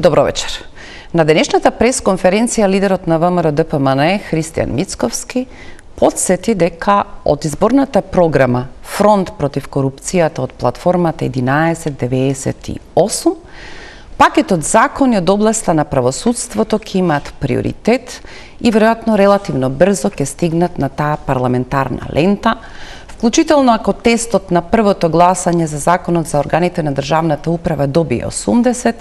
Добро вечер. На денешната пресконференција лидерот на ВМРО-ДПМН Христијан Мицковски подсети дека од изборната програма Фронт против корупцијата од платформата 1198 пакетот закони од областа на правосудството ќе имаат приоритет и веројатно релативно брзо ќе стигнат на таа парламентарна лента, вклучително ако тестот на првото гласање за законот за органите на државната управа добие 80,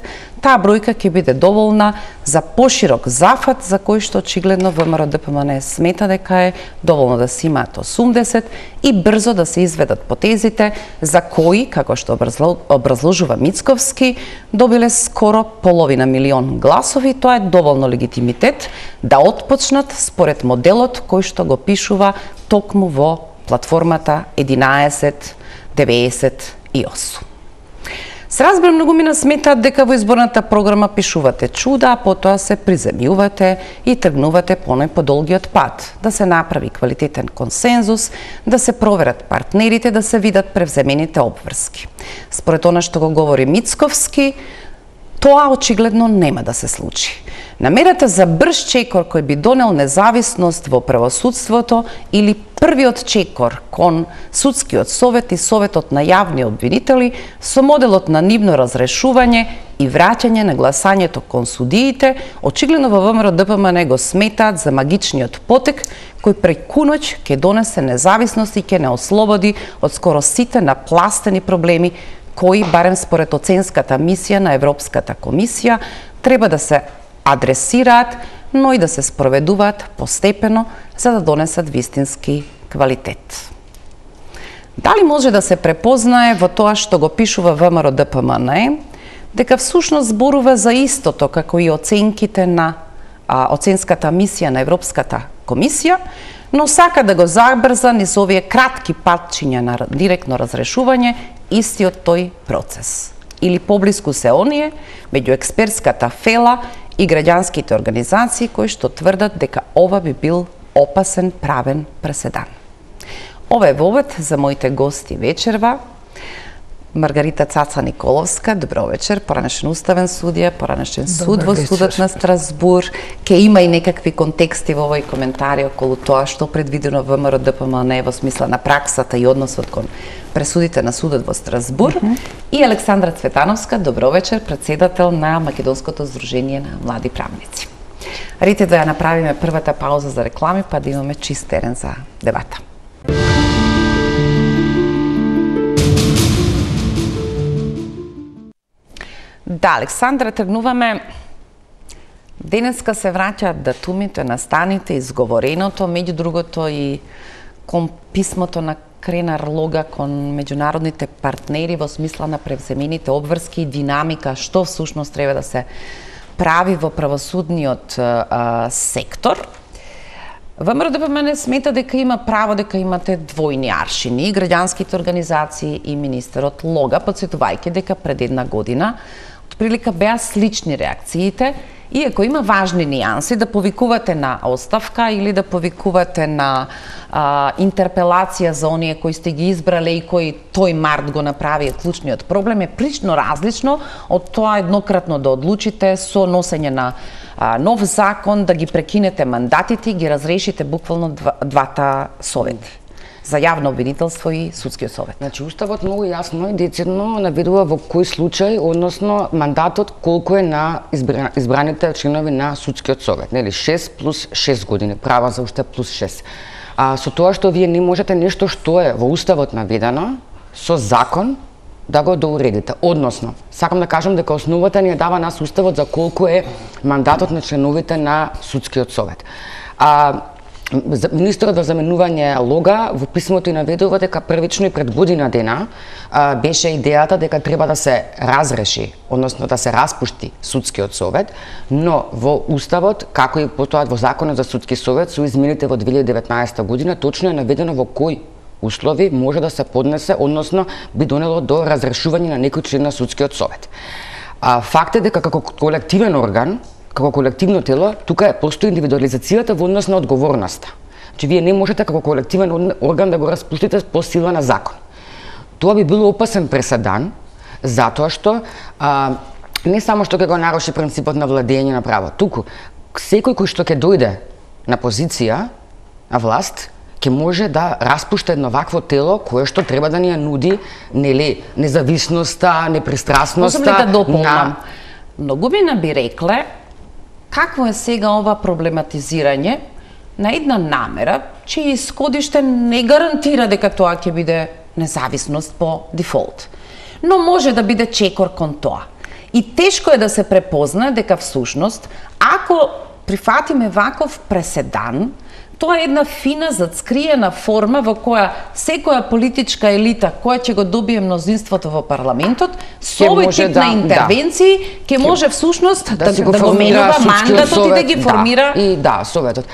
таа бројка ќе биде доволна за поширок зафат за кој што очигледно ВМРО-ДПМН смета дека е доволно да се имаат 80 и брзо да се изведат потезите за кои, како што образложува Мицковски, добиле скоро половина милион гласови. Тоа е доволно легитимитет да отпочнат според моделот кој што го пишува токму во платформата 1198. Се разбира, многумина сметаат дека во изборната програма пишувате чуда, а потоа се приземјувате и тргнувате по најподолгиот пат, да се направи квалитетен консензус, да се проверат партнерите, да се видат превземените обврски. Според она што го говори Мицковски, тоа очигледно нема да се случи. Намерата за брз чекор кој би донел независност во правосудството или првиот чекор кон судскиот совет и советот на јавни обвинители со моделот на нивно разрешување и враќање на гласањето кон судиите, очигледно во ВМРО-ДПМН го сметаат за магичниот потек кој преку ноќ ќе донесе независност и ќе не ослободи од скоро сите напластени проблеми кои, барем според оценската мисија на Европската комисија, треба да се адресираат, но и да се спроведуваат постепено за да донесат вистински квалитет. Дали може да се препознае во тоа што го пишува ВМРО-ДПМН дека всушност зборува за истото како и оценките на оценската мисија на Европската комисија, но сака да го забрза низ овие кратки патчиња на директно разрешување истиот тој процес. Или поблиску се оние меѓу експертската фела и граѓанските организации кои што тврдат дека ова би бил опасен правен преседан. Ова е вовед за моите гости вечерва. Маргарита Цаца Николовска, добро вечер, поранешен уставен судија, поранешен суд во судот на Страсбур. Ке има и некакви контексти во овој коментари околу тоа што предвидено во ВМРО-ДПМН во смисла на праксата и односот кон пресудите на судот во Страсбур. И Александра Цветановска, добро вечер, председател на Македонското здружение на млади правници. Рите да ја направиме првата пауза за реклами, па да имаме чист терен за дебата. Да, Александра, тргнуваме. Денеска се враќаат датумите, настаните, изговореното, меѓу другото и кон писмото на Кренар Лога кон меѓународните партнери во смисла на превземените обврски и динамика што всушност треба да се прави во правосудниот сектор. ВМРО-ДПМН смета дека има право дека имате двојни аршини, и граѓанските организации и министерот Лога, подсетувајќи дека пред една година прилика беа слични реакциите, иако има важни нијанси да повикувате на оставка или да повикувате на интерпелација за оние кои сте ги избрале и кои тој март го направи, клучниот проблем е прилично различно од тоа еднократно да одлучите со носење на нов закон, да ги прекинете мандатите и ги разрешите буквално двата совети за јавно обвинителство и судскиот совет. Значи, Уставот многу јасно и децидно наведува во кој случај, односно мандатот колку е на избраните членови на судскиот совет, нели 6 плюс 6 години, права за уште плюс 6. Со тоа што вие не можете нешто што е во Уставот наведено со закон да го доуредите. Односно, сакам да кажам дека основата ни ја дава нас Уставот за колку е мандатот на членовите на судскиот совет. Министерот за заменување Лога во писмото и наведува дека првично и пред година дена беше идејата дека треба да се разреши, односно да се распушти судскиот совет, но во Уставот, како и потоа во Законот за судски совет, со измените во 2019 година, точно е наведено во кои услови може да се поднесе, односно би донело до разрешување на некој член на судскиот совет. Факт е дека како колективен орган, како колективно тело, тука постои индивидуализацијата во однос на одговорноста. Че вие не можете како колективен орган да го распуштите по сила на закон. Тоа би било опасен преседан, затоа што не само што ќе го наруши принципот на владење на право, туку секој кој што ќе дојде на позиција на власт ќе може да распушта едно вакво тело кое што треба да ни ја нуди, нели, независноста, непристрасноста. Можам ли да дополнам? Многумина би рекле какво е сега ова проблематизирање на една намера, чиј исходиште не гарантира дека тоа ќе биде независност по дефолт. Но може да биде чекор кон тоа. И тешко е да се препознае дека всушност, ако прифатиме ваков преседан, тоа е една фина зацкриена форма во која секоја политичка елита која ќе го добие мнозинството во парламентот, со овој тип на интервенции ќе може всушност да го менува мандатот и да ги формира советот.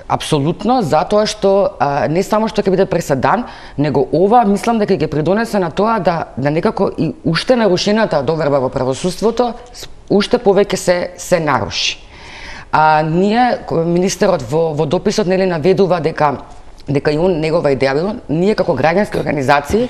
Апсолутно, затоа што не само што ќе биде преседан, него ова мислам дека ќе придонесе на тоа да некако и уште нарушената доверба во правосудството уште повеќе се наруши. Ние, министерот во дописот нели наведува дека и он негова идеја било, ние како граѓански организации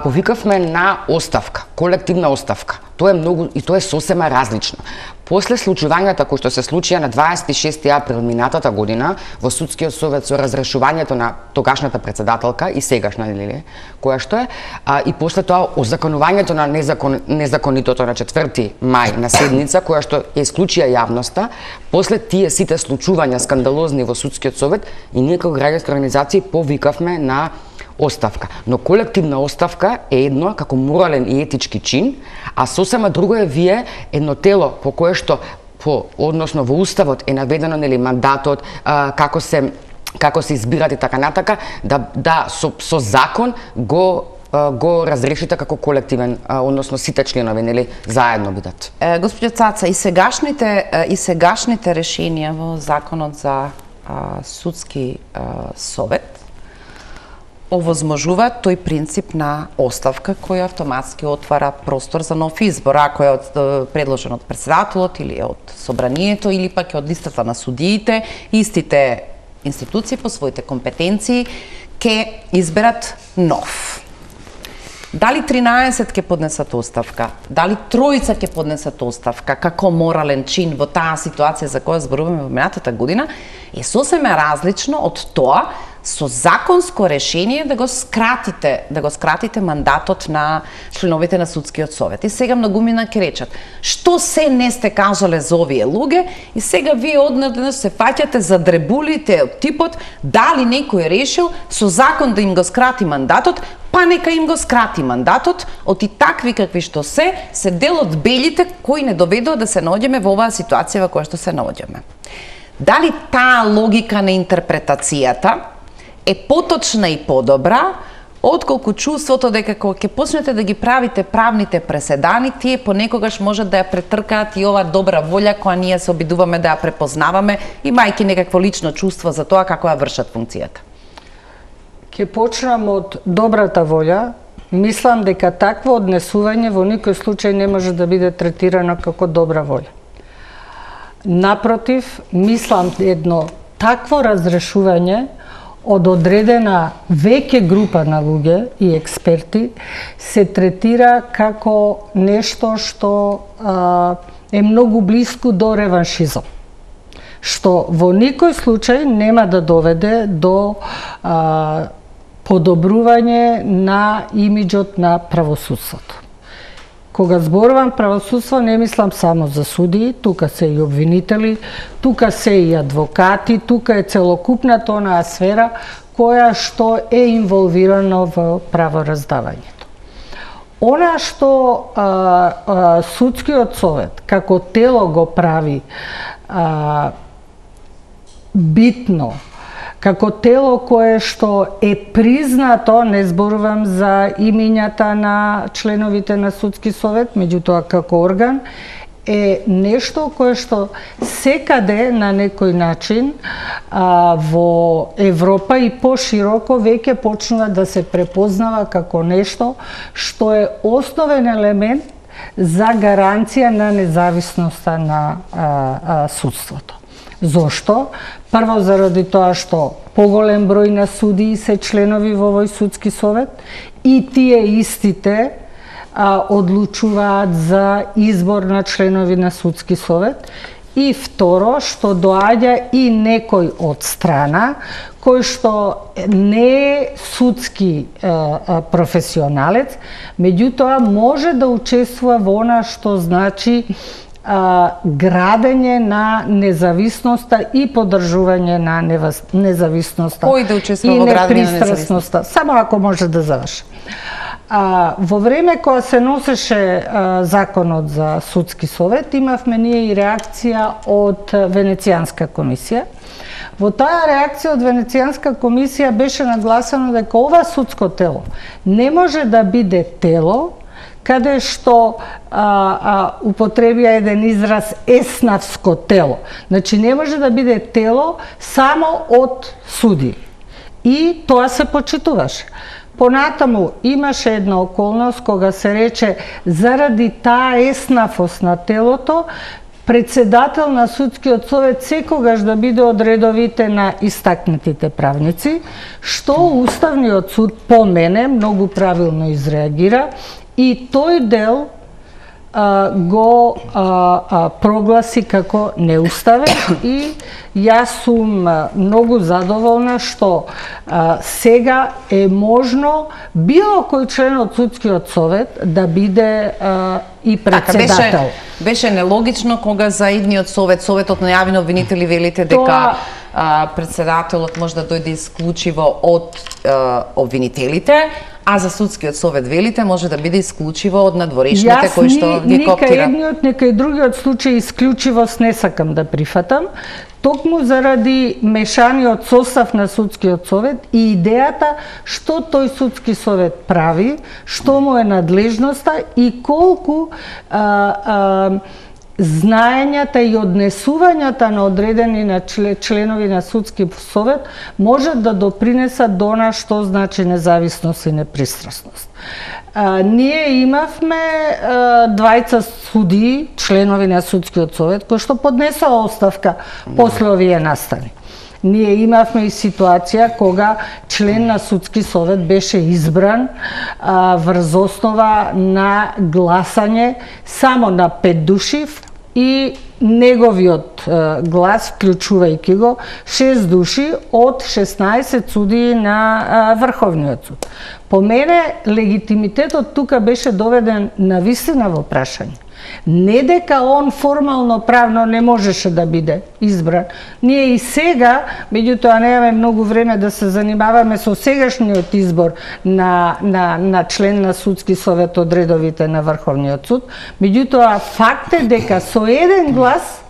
повикавме на оставка, колективна оставка. Тоа е многу и тоа е сосема различно. После случувањата кои што се случија на 26 април минатата година во судскиот совет со разрешувањето на тогашната председателка и сегашна нели која што е, и после тоа озаконувањето на незаконитото на 4 мај на седница која што ја исклучија јавноста, после тие сите случувања скандалозни во судскиот совет и ние како граѓански организации повикавме на оставка. Но колективна оставка е едно како морален и етички чин, а сосема друго е вие едно тело по кое што односно во уставот е наведено нели мандатот, како се избират и така натака, со закон го разрешите како колективен, односно сите членови нели заедно бидат. Господјо Цаца, и сегашните решенија во законот за судски совет овозможуваат тој принцип на оставка кој автоматски отвара простор за нов избор, ако е предложен од председателот или од собранието или пак е од листата на судиите, истите институции по своите компетенции ќе изберат нов. Дали 13 ќе поднесат оставка, дали тројца ќе поднесат оставка како морален чин во таа ситуација за која зборуваме во минатата година, е сосема различно од тоа со законско решение да го скратите мандатот на членовите на судскиот совет. И сега многумина ќе речат, што се не сте кажале за овие луѓе и сега вие однадеднаш се фаќате за дребулите од типот дали некој решил со закон да им го скрати мандатот, па нека им го скрати мандатот, од и такви какви што се дел од белите кои не доведува да се наоѓаме во оваа ситуација во која што се наоѓаме. Дали таа логика на интерпретацијата е поточна и подобра, отколку чувството дека кога ќе почнете да ги правите правните преседани, тие понекогаш можат да ја претркаат и оваа добра волја која ние се обидуваме да ја препознаваме, имајќи некакво лично чувство за тоа како ја вршат функцијата. Ќе почнам од добрата волја. Мислам дека такво однесување во никој случај не може да биде третирано како добра волја. Напротив, мислам едно такво разрешување од одредена веќе група на луѓе и експерти се третира како нешто што е многу близко до реваншизам, што во никој случај нема да доведе до подобрување на имиџот на правосудството. Кога зборувам правосудство, не мислам само за судии, тука се и обвинители, тука се и адвокати, тука е целокупната онаа сфера која што е инволвирана во правораздавањето. Она што судскиот совет како тело го прави битно, како тело кое што е признато, не зборувам за имињата на членовите на судски совет, меѓутоа како орган, е нешто кое што секаде на некој начин во Европа и пошироко веќе почнува да се препознава како нешто што е основен елемент за гаранција на независноста на судството. Зошто? Прво заради тоа што поголем број на судии се членови во овој судски совет и тие истите одлучуваат за избор на членови на судски совет. И второ, што доаѓа и некој од страна, кој што не е судски професионалец, меѓутоа може да учествува во она што значи градење на независноста и поддржување на независноста. Кој да учествува во градење на независноста? Само ако може да заврши. Во време кога се носеше законот за судски совет, имавме ние и реакција од Венецијанска комисија. Во таа реакција од Венецијанска комисија беше нагласено дека ова судско тело не може да биде тело каде што употребија еден израз еснавско тело. Значи не може да биде тело само од суди. И тоа се почитуваше. Понатаму имаше една околност кога се рече заради таа еснавост на телото, председател на судскиот совет секогаш да биде од редовите на истакнатите правници, што Уставниот суд по мене многу правилно изреагира и тој дел го прогласи како неуставен и јас сум многу задоволна што сега е можно било кој член од судскиот совет да биде и председател. Беше нелогично кога за идниот советот на јавни обвинители велите дека председателот може да дојде исклучиво од обвинителите, а за судскиот совет велите може да биде исклучиво од надворешните кои што ги коптира. Нека едниот, нека и другиот случај исклучивост не сакам да прифатам, токму заради мешаниот состав на судскиот совет и идејата што тој судски совет прави, што му е надлежноста и колку знаењата и однесувањата на одредени на членови на судски совет можат да допринесат до она што значи независност и непристрасност. Ние имавме двајца судии, членови на судскиот совет, кои што поднесоа оставка после овие настани. Ние имавме и ситуација кога член на судски совет беше избран врз основа на гласање само на 5 души и неговиот глас, вклучувајќи го 6 души од 16 судии на Врховниот суд. По мене легитимитетот тука беше доведен на вистина во прашање. Не дека он формално правно не можеше да биде избран. Ние и сега, меѓутоа немаме многу време да се занимаваме со сегашниот избор на член на судски совет од редовите на Врховниот суд, меѓутоа факт е дека со еден глас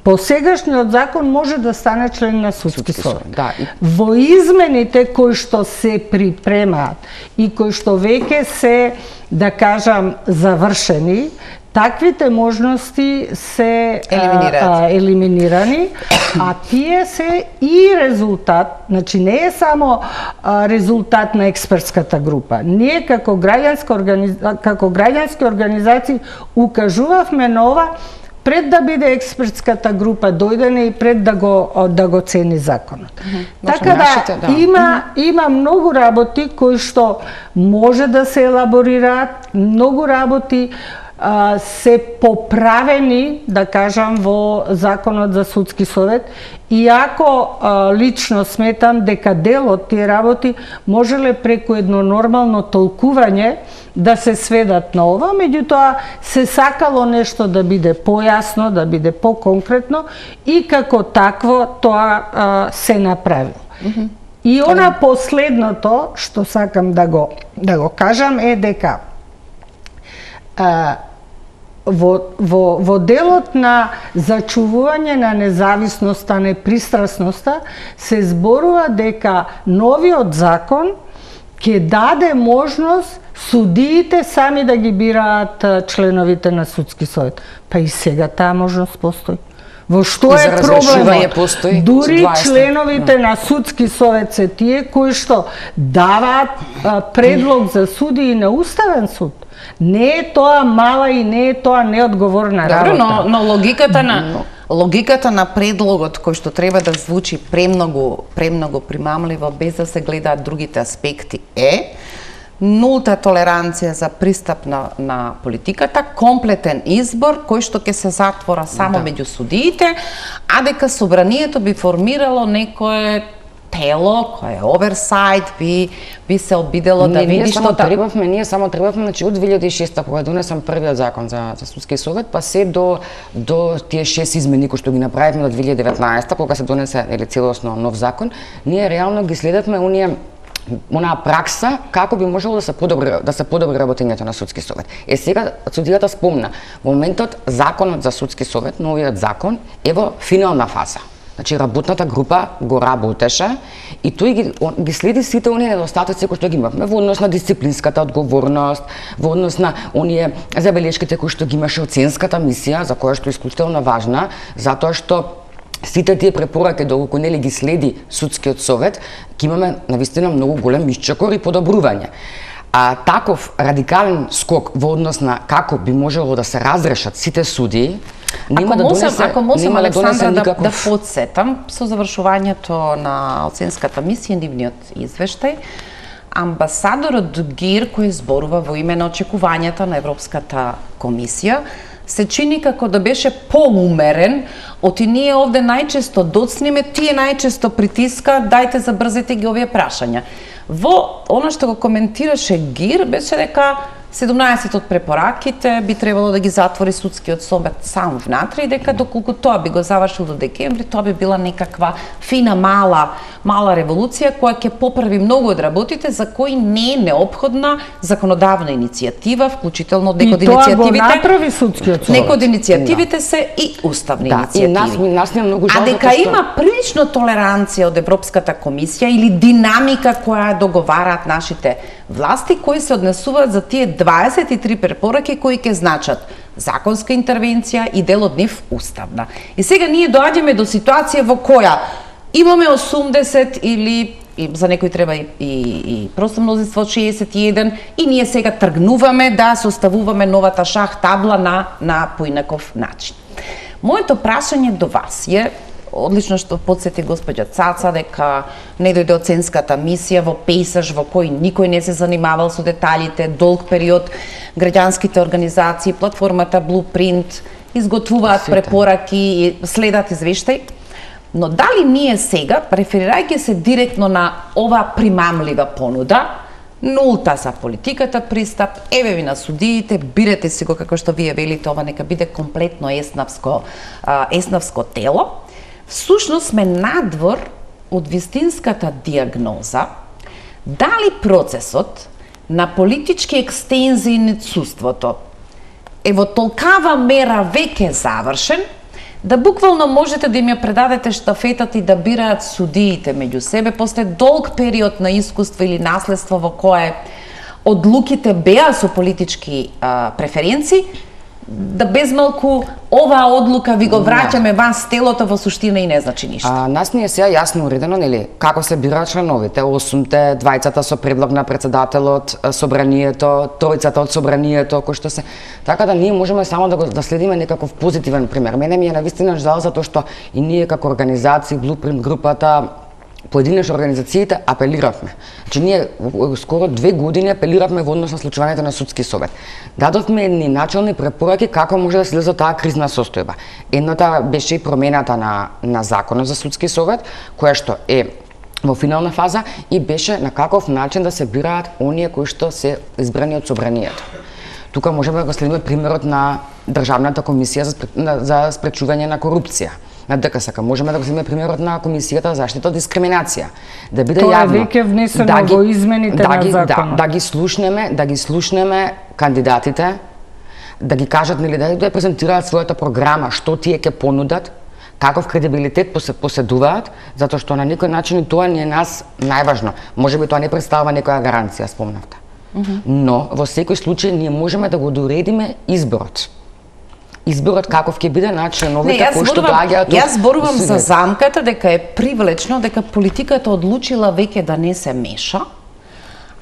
по сегашниот закон може да стане член на судски совет. Да. Во измените кои што се припремаат и кои што веќе се, да кажам, завршени, таквите можности се елиминирани, а тие се и резултат, значи не е само резултат на експертската група. Ние како граѓански организации укажувавме на ова пред да биде експертската група дојдене и пред да го цени законот. Така да има многу работи кои што може да се елаборираат, многу работи се поправени, да кажам, во Законот за судски совет, иако лично сметам дека дел од тие работи можеле преку едно нормално толкување да се сведат на ова, меѓутоа се сакало нешто да биде појасно, да биде поконкретно и како такво тоа се направи. И она последното што сакам да го кажам е дека во делот на зачувување на независноста, непристрасноста, се зборува дека новиот закон ќе даде можност судиите сами да ги бираат членовите на судски совет. Па и сега таа можност постои. Во што е проблемот? Дури членовите на судски совет се тие кои што даваат предлог за судии на Уставен суд. Не е тоа мала и не е тоа неодговорна работа. Но логиката на предлогот кој што треба да звучи премногу примамливо без да се гледаат другите аспекти е нулта толеранција за пристап на политиката, комплетен избор кој што ќе се затвора само меѓу судиите, а дека собранието би формирало некое тело кое е оверсайт, би се обидело да види што ние само требавме, значи од 2006 кога донесам првиот закон за судски совет, па се до тие 6 измени кои што ги направивме до 2019 кога се донесе целосно нов закон, ние реално ги следевме онаа пракса како би можело да се подобри работењето на судски совет. Сега судијата спомна, во моментот законот за судски совет, новиот закон е во финална фаза. Значи работната група го работеше и тој ги следи сите оние недостатоци кои што ги имавме во однос на дисциплинската одговорност, во однос на оние забелешките кои што ги имаше оценската мисија, за која што е исклучително важна, затоа што сите тие препораки доколку нели ги следи судскиот совет, ќе имаме навистина многу голем исчекор и подобрување. А таков радикален скок во однос на како би можело да се разрешат сите судии, Ако можам, Александра, да подсетам со завршувањето на оценската мисија, нивниот извештај, амбасадорот ГИР кој зборува во име на очекувањата на Европската комисија, се чини како да беше поумерен, оти ние овде најчесто доцниме, тие најчесто притиска, дајте забрзете ги овие прашања. Во она што го коментираше ГИР беше дека 17 од препораките би требало да ги затвори судскиот совет сам внатре и дека доколку тоа би го завршил до декември, тоа би била некаква фина мала револуција која ќе поправи многу од работите за кои не е неопходна законодавна иницијатива, вклучително некои од иницијативите. И тоа го направи судскиот совет. Некои од иницијативите се и уставни иницијативи. И нас не многу жал. А дека има прилично толеранција од Европската комисија или динамика која договараат нашите власти кои се однесуваат за тие 23 препораки кои ќе значат законска интервенција и дел од нив уставна. И сега ние доаѓаме до ситуација во која имаме 80 или за некои треба и просто мнозинство од 61 и ние сега тргнуваме да составуваме новата шах табла на поинаков начин. Моето прашање до вас е одлично што подсети господја Цаца дека не дојде оценската мисија во пейсаж во кој никој не се занимавал со деталите, долг период, граѓанските организации, платформата Blueprint изготвуваат препораки и следат извештај. Но дали ние сега, реферирајќи се директно на ова примамлива понуда, нулта за политиката пристап, еве ви на судиите, бирате си го како што вие велите, ова нека биде комплетно еснавско тело, всушност сме надвор од вистинската диагноза дали процесот на политички екстензии на судството е во толкава мера веќе завршен, да буквално можете да им ја предадете штафетата и да бираат судиите меѓу себе после долг период на искуство или наследство во кое одлуките беа со политички преференции, да безмалку оваа одлука ви го враќаме вас телото во суштина и не значи ништо. Нас ни е сега јасно уредено, нели, како се бираат членовите, 8-те, 2-цата со предлог на претседателот, собранието, 3-цата од собранието, кој што се. Така да ние можеме само да следиме некаков позитивен пример. Мене ми е навистина жал затоа што и ние како организации, Blueprint групата, поединечни организациите апелиравме. Значи ние скоро 2 години апелиравме во однос на случувањето на судски совет. Дадовме едни начални препораки како може да се излезе од таа кризна состојба. Едната беше и промената на законот за судски совет, која што е во финална фаза и беше на каков начин да се бираат оние кои што се избрани од собранието. Тука можеме да го следиме примерот на Државната комисија за спречување на корупција. На ДКСК можеме да го земеме примерот на Комисијата за заштита од дискриминација. Да биде тоа јавно. Тоа е веќе внесено во измените на законот. Да ги слушнеме кандидатите, да ги кажат нели да ја презентираат својата програма, што тие ќе понудат, каков кредибилитет поседуваат, затоа што на некој начин и тоа не е нас најважно. Можеби тоа не представува некоја гаранција, спомнавте. Но во секој случај ние можеме да го доредиме изборот. Изборот каков ќе биде на членовите кои што доаѓаат од... Јас зборувам за замката дека е привлечно дека политиката одлучила веќе да не се меша,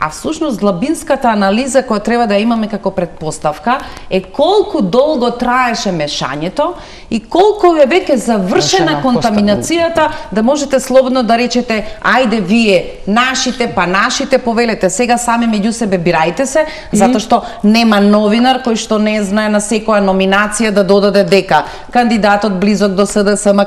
а всушност длабинската анализа која треба да имаме како предпоставка е колку долго траеше мешањето и колку е веќе завршена контаминацијата да можете слободно да речете ајде вие нашите па нашите повелете сега сами меѓу себе бирајте се, затоа што нема новинар кој што не знае на секоја номинација да додаде дека кандидатот близок до СДСМ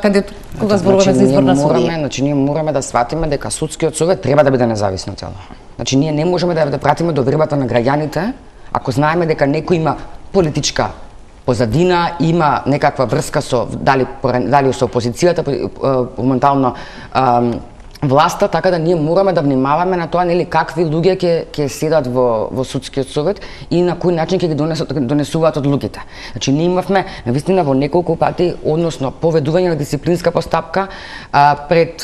кога зборуваме за избор на судија. Значи ние мораме да сватиме дека судскиот совет треба да биде независно тело. Значи ние не можеме да пратиме довербата на граѓаните ако знаеме дека некој има политичка позадина, има некаква врска со дали со опозицијата, моментално власта, така да ние мораме да внимаваме на тоа нели какви луѓе ќе седат во судскиот совет и на кој начин ќе ги донесуваат одлуките. Значи ние имавме навистина во неколку пати, односно поведување на дисциплинска постапка пред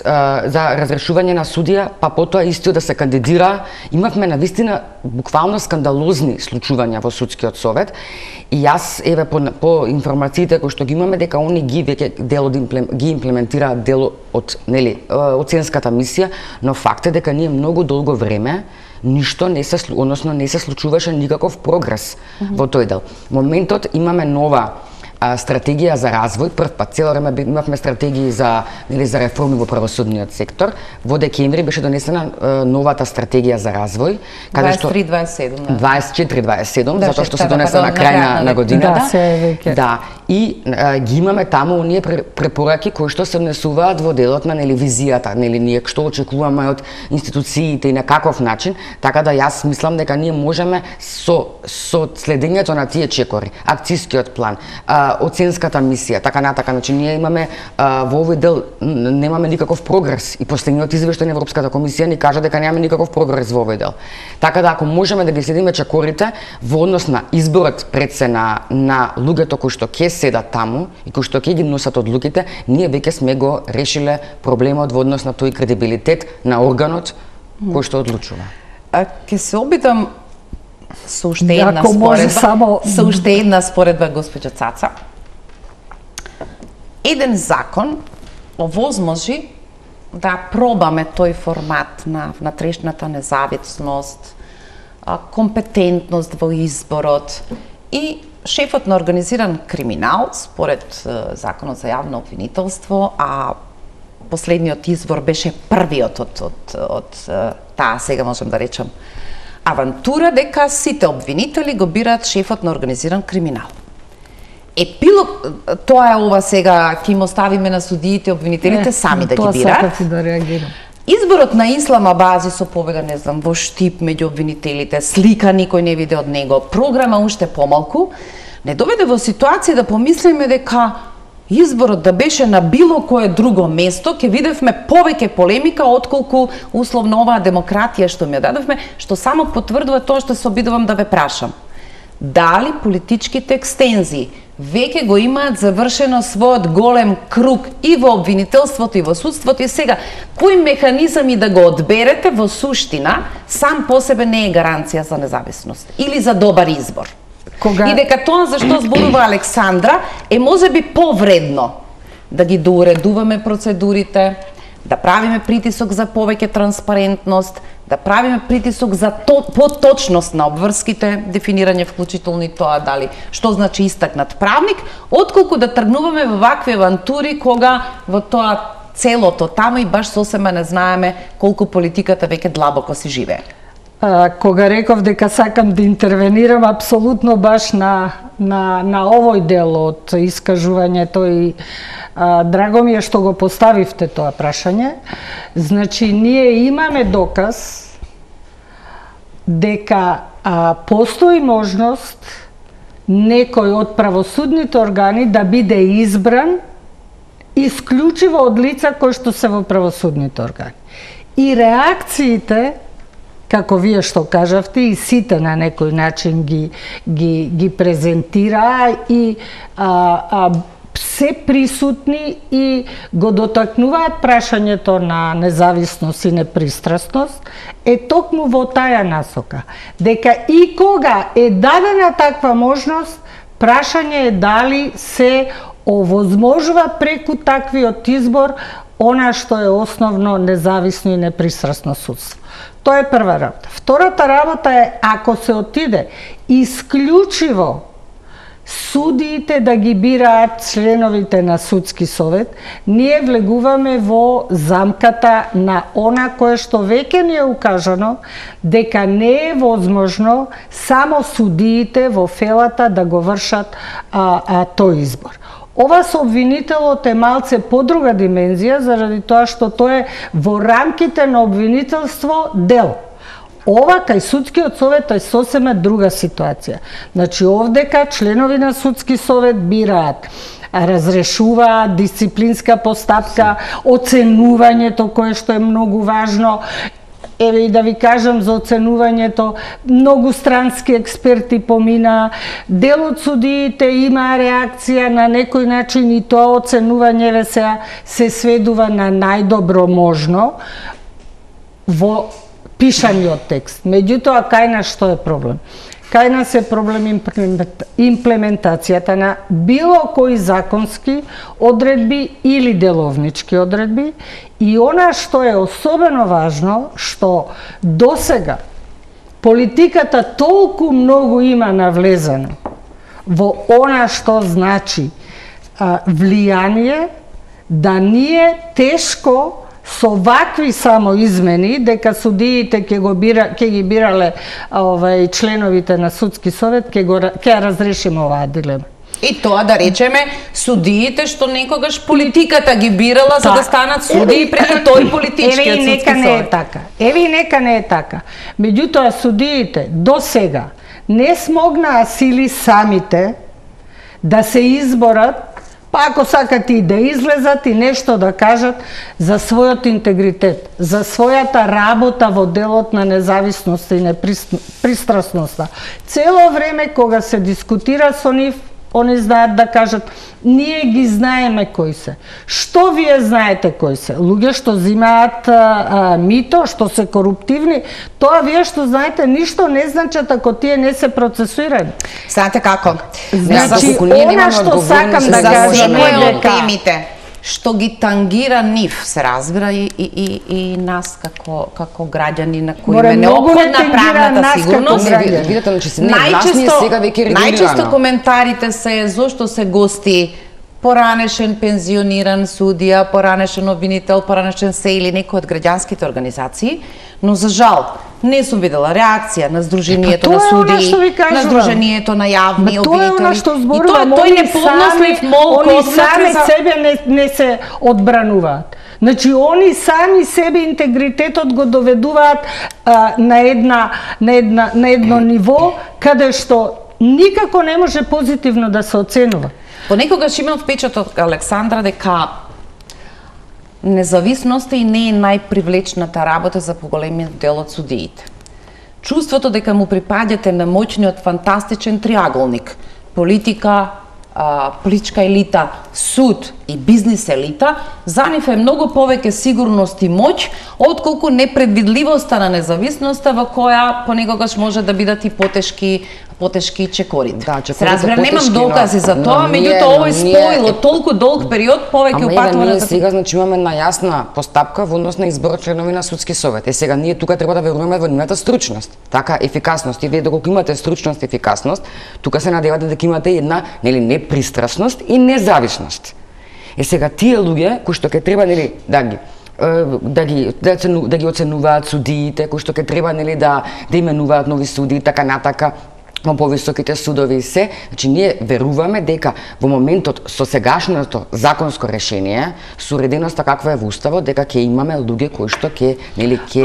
за разрешување на судија, па потоа истиот да се кандидира. Имавме навистина буквално скандалозни случувања во судскиот совет и јас еве по информациите кои што ги имаме дека они ги веќе дел ги имплементираат дел од нели оценската мисија, но факт е дека ние многу долго време ништо не се случуваше никаков прогрес во тој дел. Моментот имаме нова стратегија за развој, прв пат цело време имавме стратегии за реформи во правосудниот сектор. Во декември беше донесена новата стратегија за развој, каде што 24-27, затоа што се донесе на крај на годината. Да, и ги имаме таму оние препораки кои што се внесуваат во делот на визијата, ние што очекуваме од институциите и на каков начин, така да јас мислам дека ние можеме со следењето на тие чекори, акцискиот план, оценската мисија, така натака, значи ние имаме во овој дел немаме никаков прогрес и последниот извештај на Европската комисија ни кажа дека немаме никаков прогрес во овој дел. Така да ако можеме да ги следиме чекорите во однос на изборот пред се на луѓето кои што ќе седат таму и кои што ќе ги носат одлуките, ние веќе сме го решиле проблемот во однос на тој кредибилитет на органот кој што одлучува. Ќе се обидам со уште една споредба, госпоѓа Цаца. Еден закон овозможи да пробаме тој формат на внатрешната независност, компетентност во изборот и шефот на организиран криминал, според Законот за јавно обвинителство, а последниот избор беше првиот од таа, сега можем да речем, авантура дека сите обвинители го бираат шефот на организиран криминал. Епилог, тоа е ова сега, ќе им оставиме на судиите, обвинителите сами да ги бираат. Тоа сакам да реагирам. Изборот на Ислама Бази со победа, не знам, во штип меѓу обвинителите, слика никој не виде од него, програма уште помалку, не доведе во ситуација да помислиме дека изборот да беше на било кое друго место, ќе видевме повеќе полемика отколку условно оваа демократија што ми ја дадовме, што само потврдува тоа што се обидувам да ве прашам. Дали политичките екстензии веќе го имаат завршено својот голем круг и во обвинителството и во судството и сега кој механизами да го одберете во суштина сам по себе не е гаранција за независност или за добар избор. И дека тоа за што зборува Александра е можеби повредно да ги доуредуваме процедурите, да правиме притисок за повеќе транспарентност, да правиме притисок за поточност на обврските, дефинирање вклучително и тоа дали што значи истакнат правник, отколку да тргнуваме во вакви авантури кога во тоа целото таму и баш сосема не знаеме колку политиката веќе длабоко си живее. Кога реков дека сакам да интервенирам апсолутно баш на овој дел од искажувањето и драго ми е што го поставивте тоа прашање. Значи, ние имаме доказ дека постои можност некој од правосудните органи да биде избран исклучиво од лица кои што се во правосудните органи. И реакциите, како вие што кажавте, и сите на некој начин ги презентираа и се присутни и го дотакнуваат прашањето на независност и непристрасност, е токму во таја насока. Дека и кога е дадена таква можност, прашање е дали се овозможува преку таквиот избор она што е основно независно и непристрасно судство. Тоа е прва работа. Втората работа е, ако се отиде исклучиво судиите да ги бираат членовите на судски совет, ние влегуваме во замката на она кое што веќе ни е укажано, дека не е возможно само судиите во фелата да го вршат тој избор. Ова со обвинителот е малце подруга димензија, заради тоа што тоа е во рамките на обвинителство дел. Ова кај судскиот совет е сосема друга ситуација. Значи овдека членови на судски совет бираат, разрешуваат дисциплинска постапка, оценувањето кое што е многу важно. Еве и да ви кажам за оценувањето, многу странски експерти помина, дел од судиите има реакција на некој начин и тоа оценување се сведува на најдобро можно во пишаниот текст. Меѓутоа, кај нас што е проблем? Кај нас е проблем имплементацијата на било кои законски одредби или деловнички одредби и она што е особено важно, што досега политиката толку многу има навлезено во она што значи влијание, да ние тешко со вакви само измени, дека судиите ќе ги бирале членовите на судски совет, ќе разрешиме оваа дилема. И тоа да речеме судиите што некогаш политиката ги бирала за да станат судии преку тој политичкиот судски совет. Еве и нека не е така. Еве и нека не е така. Меѓутоа судиите до сега не смогнаа сили самите да се изборат, па ако сакат и да излезат и нешто да кажат за својот интегритет, за својата работа во делот на независност и непристрасноста. Цело време кога се дискутира со нив, они знаат да кажат, ние ги знаеме кои се. Што вие знаете кои се? Луѓе што взимаат мито, што се коруптивни, тоа вие што знаете ништо не значат ако тие не се процесуирани. Знаете како? Значи, она што сакам да кажам е дека темите што ги тангира нив, се разбира и нас како граѓани на кои ме неопходна правната сигурност. Најчесто коментарите се зошто се гости поранешен пензиониран судија, поранешен обвинител, поранешен се или некој од граѓанските организации, но за жал не сум видела реакција на Сдруженијето на судии, на Сдруженијето на јавни обвинители. И тој неподнослив молк они сами себе не се одбрануваат. Значи, они сами себе интегритетот го доведуваат на едно ниво каде што никако не може позитивно да се оценува. Понекогаш имам впечаток, Александра, дека независноста и не е најпривлечната работа за поголемиот дел од судиите. Чувството дека му припаѓате на моќниот фантастичен триаголник, политика, политичка елита, суд и бизнис елита, за нив е многу повеќе сигурност и моќ, отколку непредвидливоста на независноста во која понекогаш може да бидат и потешки чекорите. Да, се разбира, немам докази за тоа, меѓутоа овој споило толку долг период повеќе упатува на сега, значи имаме најасна постапка во однос на избор членови на судски совет. Сега ние тука треба да веруваме во нивната стручност, така ефикасност. И вие доколку имате стручност и ефикасност, тука се надевате дека имате една непристрасност и независност. Сега тие луѓе кои што ќе треба да ги оценуваат судиите, кои што ќе треба да именуваат нови судии, така натака во повисоките судови и се, значи ние веруваме дека во моментот со сегашното законско решение, со уреденоста каква е во уставот, дека ќе имаме луѓе кои што ќе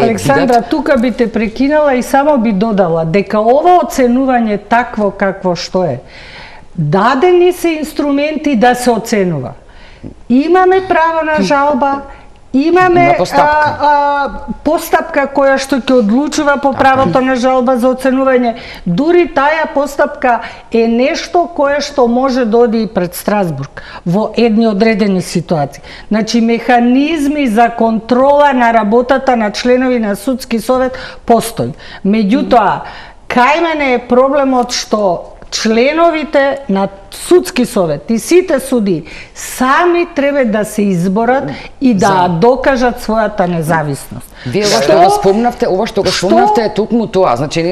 Александра, тука би те прекинала и само би додала дека ова оценување такво какво што е, дадени се инструменти да се оценува. Имаме право на жалба, имаме постапка која што ќе одлучува по правото на жалба за оценување. Дури таа постапка е нешто кое што може да оди и пред Страсбург во едни одредени ситуации. Значи, механизми за контрола на работата на членови на судски совет постои. Меѓутоа, кај мене е проблемот што членовите на судски совет и сите суди сами треба да се изборат и да докажат својата независност. Вие ова што го спомнавте е токму тоа. Значи,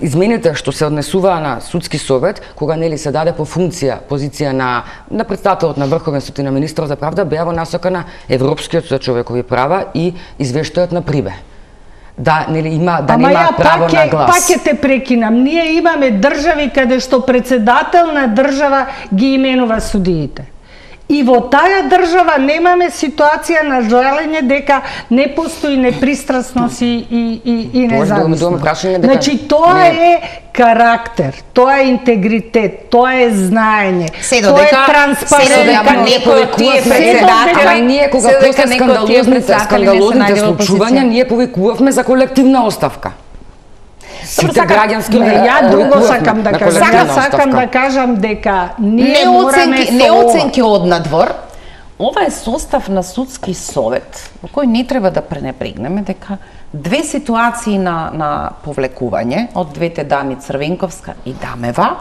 измените што се однесуваа на судски совет, кога нели се даде по позиција на претставителот на Врховен суд и на министрот за правда, беа во насока на Европскиот суд за човекови права и извештајот на Прибе. Да, нели има нема право на глас. Пак ќе те прекинам. Ние имаме држави каде што председател на држава ги именува судиите. И во таа држава немаме ситуација на жалење дека не постои непристрасност и независност. Значи тоа е карактер, тоа е интегритет, тоа е знаење, тоа е транспарентност. Некој од тие председатели, ние кога после скандалозните случувања, ние повикувавме за колективна оставка. Сите граѓански ја друго сакам да кажам. Сакам да кажам дека ние не оценки од надвор. Ова е состав на судски совет во кој не треба да пренебрегнеме дека две ситуации на повлекување од двете дами Црвенковска и Дамева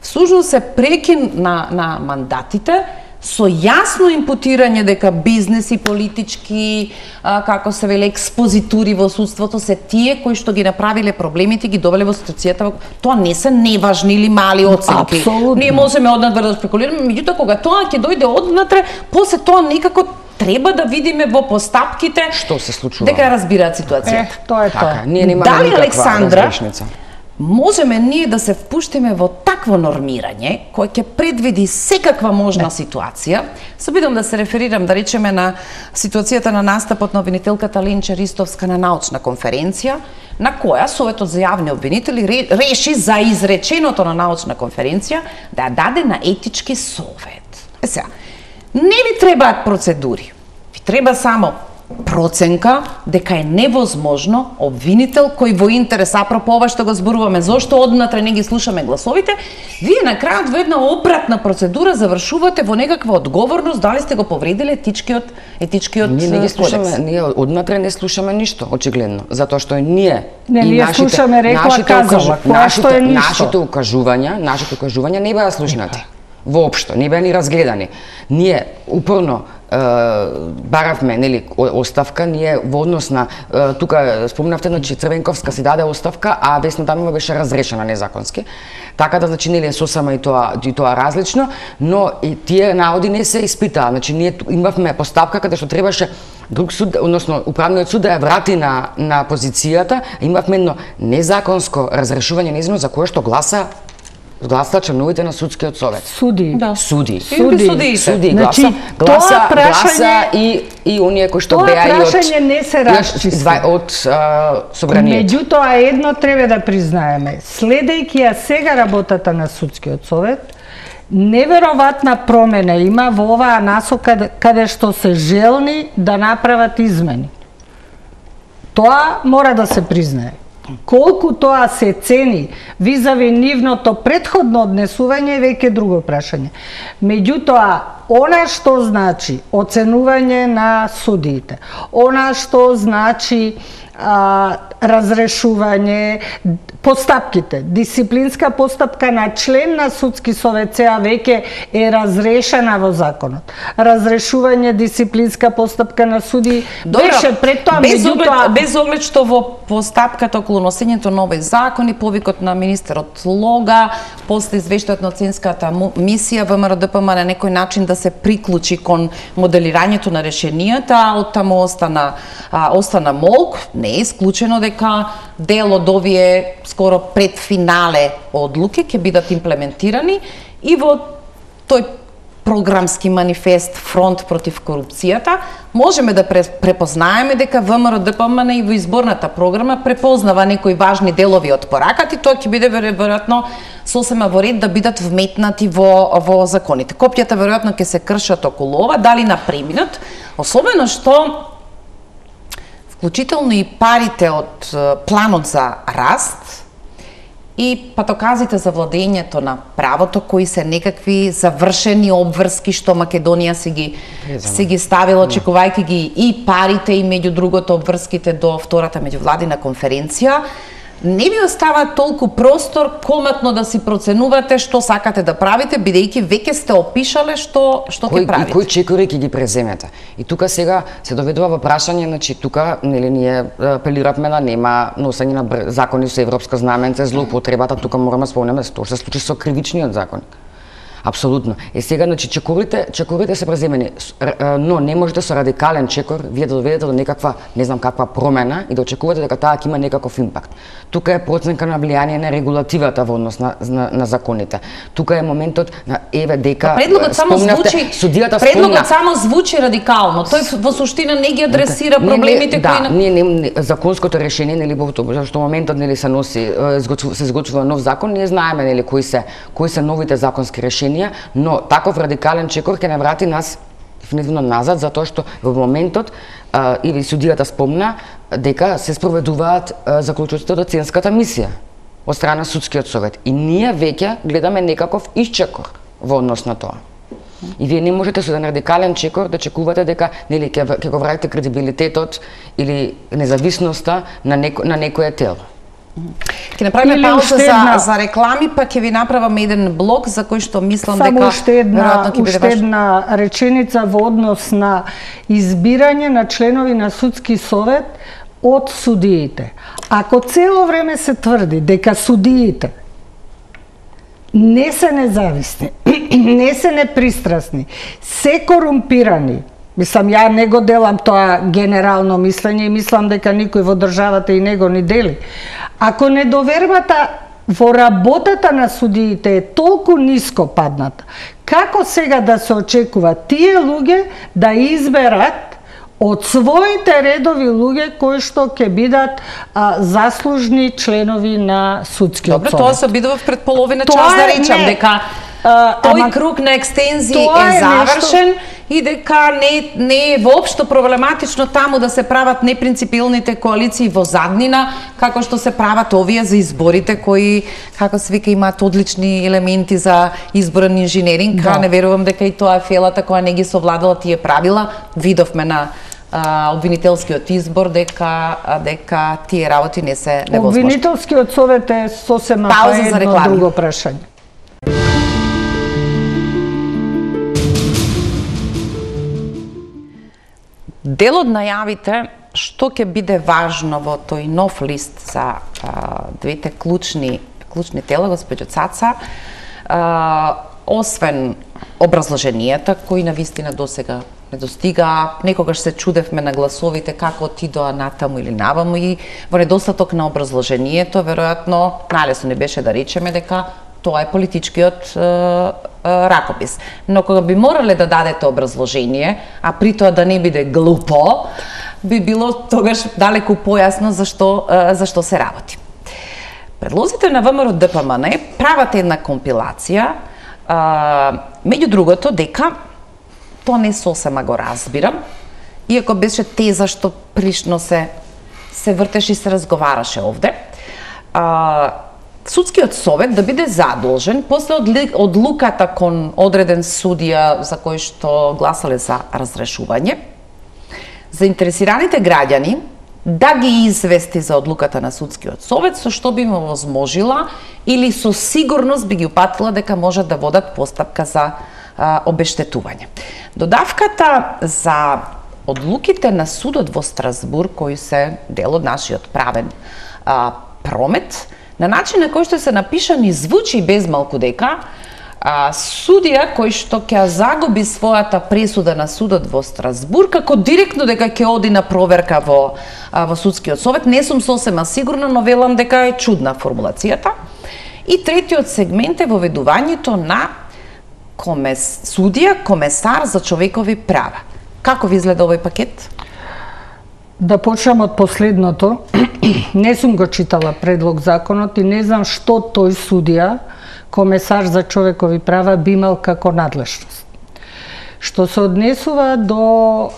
всушност се прекин на мандатите со јасно импутирање дека бизнес и политички, како се вели, експозитури во судството се тие кои што ги направиле проблемите, ги довеле во ситуацијата. Тоа не се неважни или мали оценки. Апсолутно. Ние можеме однатре да спекулираме, меѓутоа кога тоа ќе дојде однатре, после тоа некако треба да видиме во постапките што се случува. Дека разбираат ситуацијата. Тоа е тоа. Ние немаме Дали никаква Александра разрешница? Можеме ние да се впуштиме во такво нормирање кој ќе предвиди секаква можна ситуација. Се обидам да се реферирам, да речеме, на ситуацијата на настапот на обвинителката Ленче Ристовска на научна конференција, на која Советот за јавни обвинители реши за изреченото на научна конференција да ја даде на етички совет. Сега, не ви требаат процедури. Ви треба само проценка дека е невозможно обвинител кој во интерес, апропо ова што го зборуваме, зошто однатре не ги слушаме гласовите, вие на крајот во една обратна процедура завршувате во некаква одговорност дали сте го повредиле етичкиот Ние не ги слушаме, ние однатре не слушаме ништо, очигледно, затоа што ние слушаме рекла казала, која што е ништо. Нашите укажувања не беа слушнати. Воопшто, не беа ни разгледани. Ние упорно баравме, нели, оставка, ние во однос на тука спомнавте, значи Црвенковска си даде оставка, а Весна Дамева беше разрешена незаконски. Така да, значи, нели, сосема и тоа различно, но и тие наводи не се испитаа. Значи ние имавме постапка каде што требаше друг суд, односно управниот суд да ја врати на позицијата, имавме едно незаконско разрешување нејзино за кое што гласа членовите на судскиот совет. Суди. Да. Суди. Значи, гласа и оние кои што беа и од прашање не се расчисти од собранието. Меѓутоа едно треба да признаеме. Следејќи ја сега работата на судскиот совет, неверојатна промена има во оваа насока каде што се желни да направат измени. Тоа мора да се признае. Колку тоа се цени визави нивното претходно однесување е веќе друго прашање. Меѓутоа, она што значи оценување на судиите, она што значи разрешување, постапките, дисциплинска постапка на член на судски совет сега веќе е разрешена во законот. Разрешување дисциплинска постапка на суди беше пред тоа, без оглед што во постапката околу носењето на овој закон и повикот на министерот Лога, после извештајот на оценската мисија ВМРО-ДПМН на некој начин да се приклучи кон моделирањето на решенијата, а оттаму остана молк, не е исклучено дека дел од овие скоро пред финале одлуки ќе бидат имплементирани и во тој програмски манифест Фронт против корупцијата можеме да препознаеме дека ВМРО-ДПМН и во изборната програма препознава некои важни делови од пораката и тоа ќе биде веројатно сосема во ред да бидат вметнати во законите. Копјата веројатно ќе се кршат околу ова, дали на преминат, особено што вклучително и парите од планот за раст и патоказите за владењето на правото, кои се некакви завршени обврски што Македонија си ги ставила, очекувајќи ги и парите и меѓу другото обврските до втората меѓувладина конференција, не ви остава толку простор коматно да си проценувате што сакате да правите, бидејќи веќе сте опишале што ќе правите. И кои чекори ќе ги преземете. И тука сега се доведува во прашање, значи тука нели ние апелиравме да нема носење на закони со европско знаменце, злоупотребата, тука мораме да спомнеме што се случи со кривичниот законник. Апсолутно. Сега, значи, чекорите се преземени, но не можете со радикален чекор вие да доведете до некаква, не знам каква промена и да очекувате дека таа ќе има некаков импакт. Тука е проценка на влијание на регулативата во однос на законите. Тука е моментот на дека предлогот само звучи радикално. Тој во суштина не ги адресира проблемите кои законското решение, нели во што моментот нели се носи се изготвува нов закон, ние знаеме нели кои се новите законски решенија, но таков радикален чекор ќе не врати нас дефинитивно назад, затоа што во моментот или судијата спомна дека се спроведуваат заклучоците од оценската мисија од страна судскиот совет и ние веќе гледаме некаков исчекор во однос на тоа. И вие не можете со еден радикален чекор да чекувате дека нели ќе го вратите кредибилитетот или независноста на некое тело. Ќе направиме пауза за реклами, па ќе ви направаме еден блок за кој што мислам дека веројатно ќе биде уште една реченица во однос на избирање на членови на судски совет од судиите. Ако цело време се тврди дека судиите не се независни, не се непристрасни, се корумпирани, мислам, ја не го делам тоа генерално мислење и мислам дека никој во државата и не го ни дели. Ако недовербата во работата на судиите е толку ниско падната, како сега да се очекува тие луѓе да изберат од своите редови луѓе кои што ќе бидат заслужни членови на судскиот совет? Добро, тоа се обидува пред половина час да речам дека тој круг на екстензии е завршен и дека не е воопшто проблематично таму да се прават непринципилните коалиции во заднина, како што се прават овие за изборите кои, како се вика, имаат одлични елементи за изборен инженеринг. Не верувам дека и тоа е фелата која не ги совладала тие правила. Видовме на обвинителскиот избор дека тие работи не се невозможни. Обвинителскиот совет е сосема едно друго прашање. Дел од најавите што ќе биде важно во тој нов лист за двете клучни тела, госпоѓо Цаца, освен образложенијата кои навистина досега не достига, некогаш се чудевме на гласовите како отидоа натаму или наваму и во недостаток на образложението, веројатно најлесно не беше да речеме дека тоа е политичкиот ракопис. Но кога би морале да дадете образложение, а при тоа да не биде глупо, би било тогаш далеку појасно зашто се работи. Предлозите на ВМРО ДПМН прават една компилација, меѓу другото дека тоа не сосема го разбирам, иако беше теза што прилично се вртеше и се разговараше овде. Судскиот совет да биде задолжен после одлуката кон одреден судија за кој што гласале за разрешување, заинтересираните граѓани да ги извести за одлуката на судскиот совет, со што би му возможила или со сигурност би ги упатила дека можат да водат постапка за обештетување. Додавката за одлуките на судот во Страсбург, кои се дел од нашиот правен промет, на начин на кој што се напишани звучи безмалку дека судија кој што ќе загуби својата пресуда на судот во Страсбург, како директно дека ќе оди на проверка во судскиот совет, не сум сосема сигурна, но велам дека е чудна формулацијата. И третиот сегмент е воведувањето на судија, комесар за човекови права. Како ви изгледа овој пакет? Да почнам од последното. Не сум го читала предлог законот и не знам што тој судија, комесар за човекови права, би имал како надлежност. Што се однесува до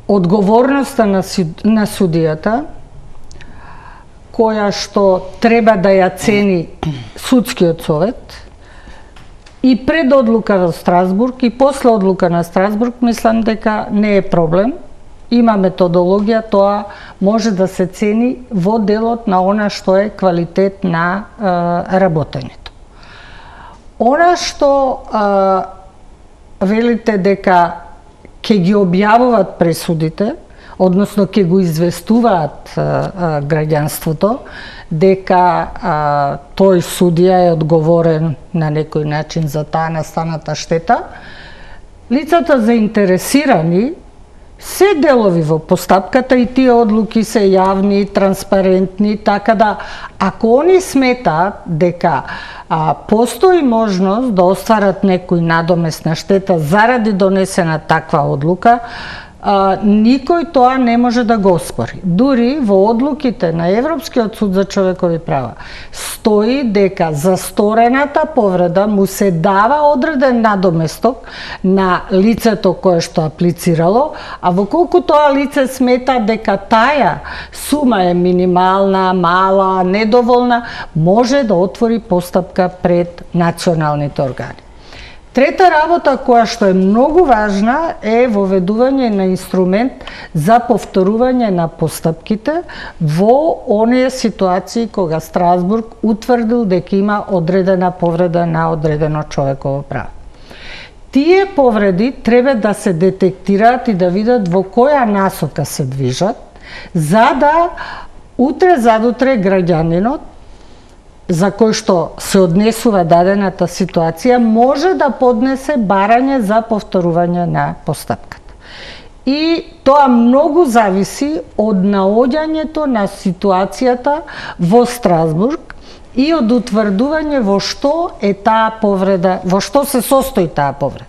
одговорноста на судијата, која што треба да ја цени судскиот совет, и пред одлука во Страсбург и после одлука на Страсбург, мислам дека не е проблем има методологија, тоа може да се цени во делот на она што е квалитет на работењето. Она што велите дека ќе ги објавуваат пресудите, односно ќе го известуваат граѓанството, дека тој судија е одговорен на некој начин за таа настаната штета, лицата заинтересирани се делови во постапката и тие одлуки се јавни, транспарентни, така да ако они сметаат дека постои можност да остварат некој надомесна штета заради донесена таква одлука, никој тоа не може да го оспори. Дури во одлуките на Европскиот суд за човекови права стои дека за сторената повреда му се дава одреден надоместок на лицето кое што аплицирало, а во колку тоа лице смета дека таа сума е минимална, мала, недоволна, може да отвори постапка пред националните органи. Трета работа која што е многу важна е воведување на инструмент за повторување на постапките во оние ситуации кога Страсбург утврдил дека има одредена повреда на одредено човеково право. Тие повреди треба да се детектираат и да видат во која насока се движат, за да утре задутре граѓанинот за кој што се однесува дадената ситуација може да поднесе барање за повторување на постапката. И тоа многу зависи од наоѓањето на ситуацијата во Страсбург и од утврдување во што е таа повреда, во што се состои таа повреда.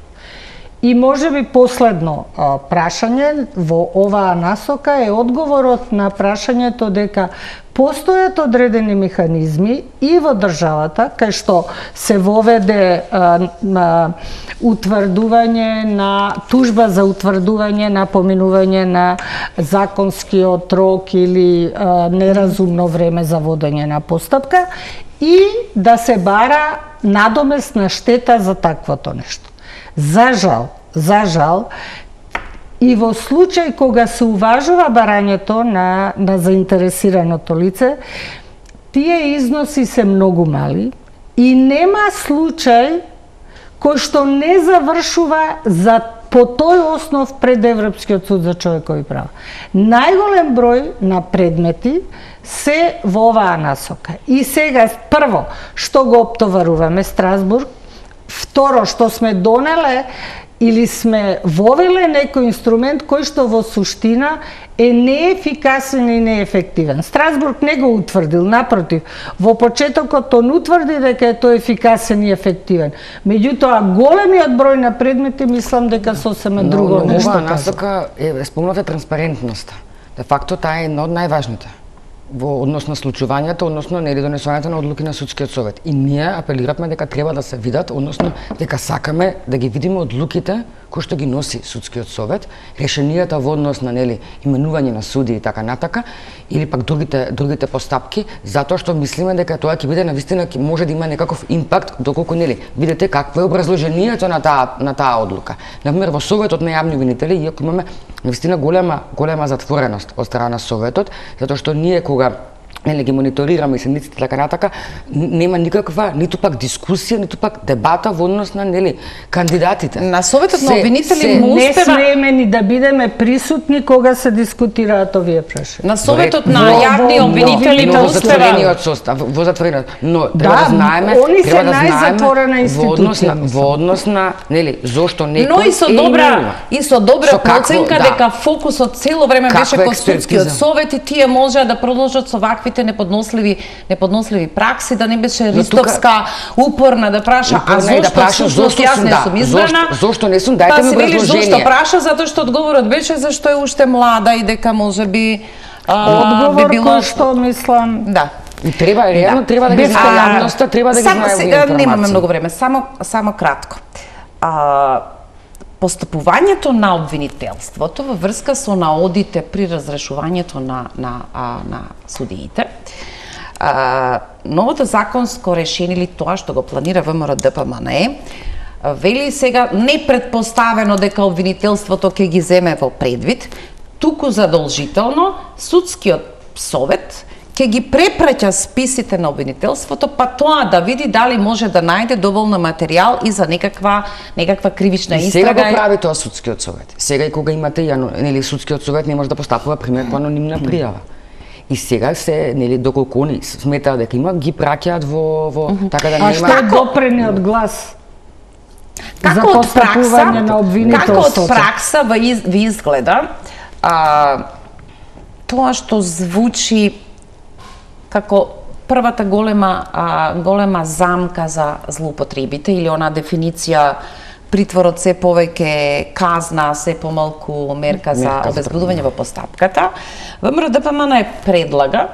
И можеби последно прашање во оваа насока е одговорот на прашањето дека постојат одредени механизми и во државата кај што се воведе утврдување на тужба за утврдување на поминување на законскиот рок или неразумно време за водење на постапка и да се бара надомесна штета за таквото нешто. За жал, и во случај кога се уважува барањето на заинтересираното лице, тие износи се многу мали и нема случај кој што не завршува по тој основ пред Европскиот суд за човекови права. Најголем број на предмети се во оваа насока. И сега, прво, што го оптоваруваме Страсбург, второ, што сме донеле или сме вовеле некој инструмент кој што во суштина е неефикасен и неефективен. Страсбург не го утврдил, напротив, во почетокот он утврди дека е тој ефикасен и ефективен. Меѓутоа, големиот број на предмети мислам дека сосема друго нешто кажа. Оваа насока е спомната транспарентноста. Де факто таа е една од најважните во однос на случувањето, односно нели донесувањето на одлуки на судскиот совет. И ние апелиравме дека треба да се видат, односно дека сакаме да ги видиме одлуките кои што ги носи судскиот совет, решенијата во однос на нели именување на суди и така натака, или пак другите постапки, затоа што мислиме дека тоа ќе биде навистина ќе може да има некаков импакт доколку нели видите какво е образложението на таа одлука. Например во советот на јавни обвинители, иако имаме навистина голема затвореност од страна на советот, затоа што ние кога нели ги мониторираме и седниците така натака, нема никаква ниту пак дискусија, ниту пак дебата во однос на нели кандидатите. На советот на обвинители не смееме ни да бидеме присутни кога се дискутираат овие прашања. На советот на јавни обвинители во затворениот состав, во затворениот, но треба да знаеме, треба да знаеме во однос на нели зошто некој. Но и со добра проценка дека фокусот цело време беше кон судскиот совет и тие можеа да продолжат со вакви неподносливи пракси, да не беше ристовска, упорна да праша, а зошто јас не сум избрана? Зошто не сум, дајте ми образложение. Зошто праша? Затоа што одговорот беше зашто е уште млада и дека можеби би било... Одговор кој што мислам... Да. И треба, реално, треба да ги знае јавноста, треба да ги знае овие информации. Немаме многу време, само кратко. Постапувањето на обвинителството во врска со наодите при разрешувањето на судиите, новото законско решение или тоа што го планира ВМРО-ДПМН вели сега не предпоставено дека обвинителството ќе ги земе во предвид, туку задолжително судскиот совет ќе ги препраќа списите на обвинителството, па тоа да види дали може да најде доволно материјал и за некаква кривична истрага. Сега го прави тоа судскиот совет. Сега и кога имате нели судскиот совет не може да постапува примерно анонимна пријава. И сега се, нели, доколку они сметаат дека има, ги праќаат во така да нема. А што е допрениот глас? За постапување на обвинителството? Како од пракса ви изгледа тоа што звучи како првата голема замка за злоупотребите или она дефиниција притворот се повеќе казна, се помалку мерка за обезбедување во постапката. ВМРО ДПМН предлага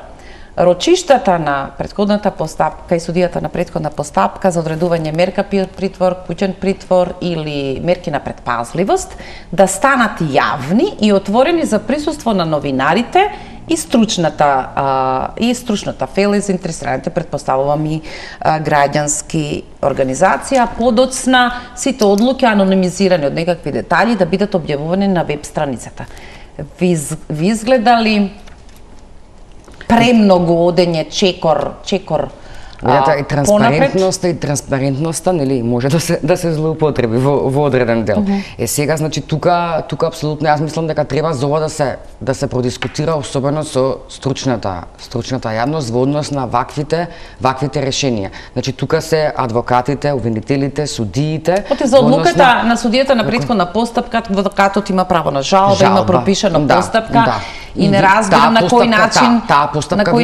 рочиштата на претходната постапка и судијата на претходна постапка за одредување мерка притвор, куќен притвор или мерки на предпазливост да станат јавни и отворени за присуство на новинарите и стручната фела и заинтересираните, предпоставувам и граѓански организации, а подоцна сите одлуки анонимизирани од некакви детали да бидат објавувани на веб страницата. Ви изгледали премногу одење чекор и транспарентноста, нели, може да се злоупотреби во одреден дел. Сега, значи, тука апсолутно јас мислам дека треба за ова да се продискутира, особено со стручната јавност во однос на ваквите решенија. Значи, тука се адвокатите, обвинителите, судиите. За одлуката на судијата на претходна постапка, адвокатот има право на жалба, има пропишана постапка и не разбирам на кој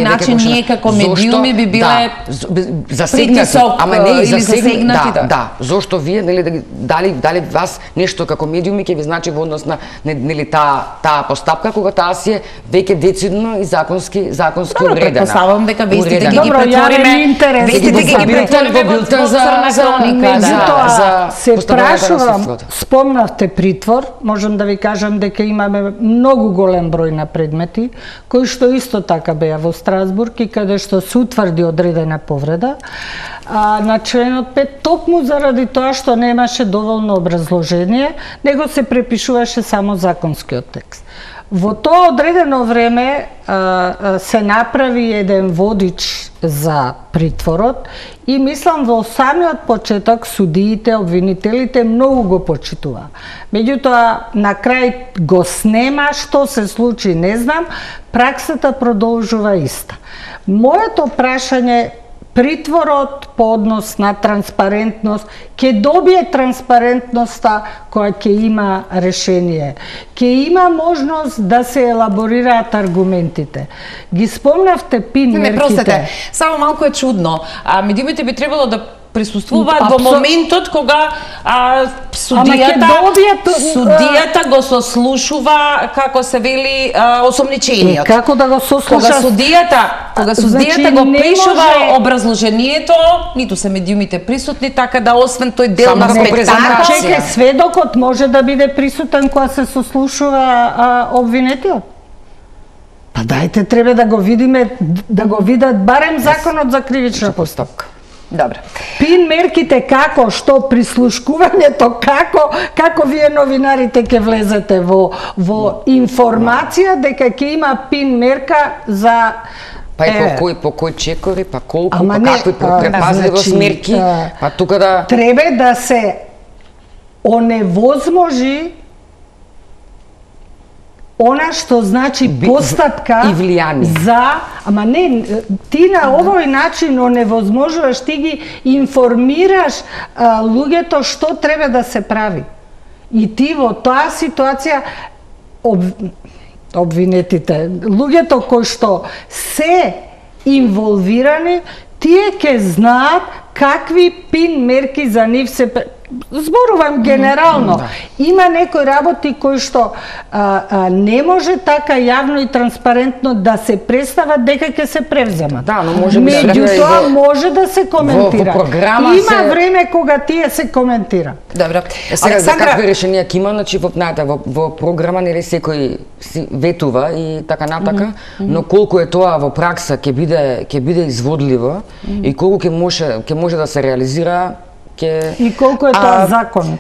начин ние како медиуми би биле засегнати, ама не и засегнати. Да, зошто вие, нели, дали вас нешто како медиуми ќе ви значи во однос на, нели, таа постапка кога таа си е веќе децидно и законски уредена. Предпоставам дека вестите ги претвориме во билтен за се прашувам, спомнавте притвор, можам да ви кажам дека имаме многу голем број на предмети кои што исто така беа во Страсбург и каде што се утврди одредена повреда на членот 5, токму заради тоа што немаше доволно образложение, него се препишуваше само законскиот текст. Во тоа одредено време се направи еден водич за притворот и мислам во самиот почеток судиите, обвинителите многу го почитуваа. Меѓутоа на крај го снема, што се случи не знам, праксата продолжува иста. Моето прашање, притворот по однос на транспарентност ќе добие транспарентноста која ќе има решение. Ќе има можност да се елаборираат аргументите. Ги спомнавте пин мерките. Простете, само малку е чудно. Медиумите би требало да присуствуваат во моментот кога судијата го сослушува, како се вели, осомничениот. Како да го сослуша? Кога судијата го пишува образложението, ниту се медиумите присутни, така да освен тој дел на спектакл. Чекај, сведокот може да биде присутен кога се сослушува обвинетиот? Па дајте, треба да го видиме, да го видат барем законот за кривична постапка. Добро. Пин мерките како, што прислушкувањето, како вие новинарите ќе влезете во информација дека ќе има пин мерка за па и по кој чекори, па колку, па какви предпазливост мерки, па тука да треба да се оневозможи она што значи постапка и влијание ама не, ти на овој начин оневозможуваш, ти ги информираш луѓето што треба да се прави. И ти во таа ситуација обвинетите, луѓето кои што се инволвирани, тие ќе знаат какви пин мерки за нив се зборувам генерално. Има некои работи кои што не може така јавно и транспарентно да се представат дека ќе се превземат. Да, но може меѓутоа може да се коментира. Во програма има време кога тие се коментира. Добро. Сега за какви решенија ќе има, значи во програма нели секој ветува и така натака, но колку е тоа во пракса ќе биде изводливо и колку ќе може да се реализира. И колку е тоа законот?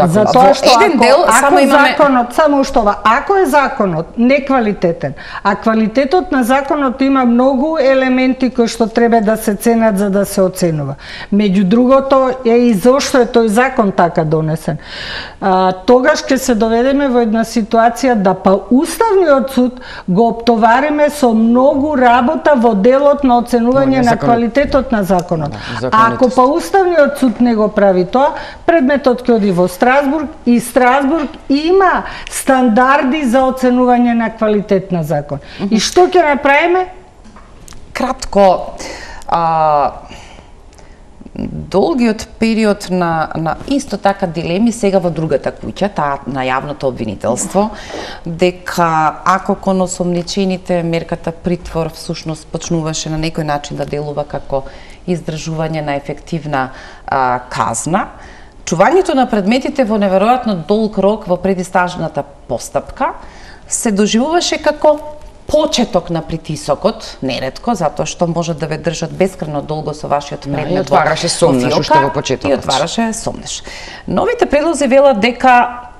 За тоа што еден дел само имаме законот, само што ако е законот неквалитетен, а квалитетот на законот има многу елементи кои што треба да се ценат за да се оценува. Меѓу другото е и зошто е тој закон така донесен. Тогаш ќе се доведеме во една ситуација да Уставниот суд го оптовариме со многу работа во делот на оценување на квалитетот на законот. Ако Уставниот суд не го прави тоа, предметот ќе оди во Страсбург и Страсбург има стандарди за оценување на квалитет на закон. И што ќе направиме? Кратко, долгиот период на исто така дилеми сега во другата куќа, таа на јавното обвинителство, дека ако кон осомничените мерката притвор всушност почнуваше на некој начин да делува како издржување на ефективна казна, чувањето на предметите во неверојатно долг рок во предистражната постапка се доживуваше како почеток на притисокот, неретко, затоа што може да ве држат бескрајно долго со вашиот предмет. И отвараше сомнеш уште во почетокот. И отвараше сомнеш. Новите предлози велат дека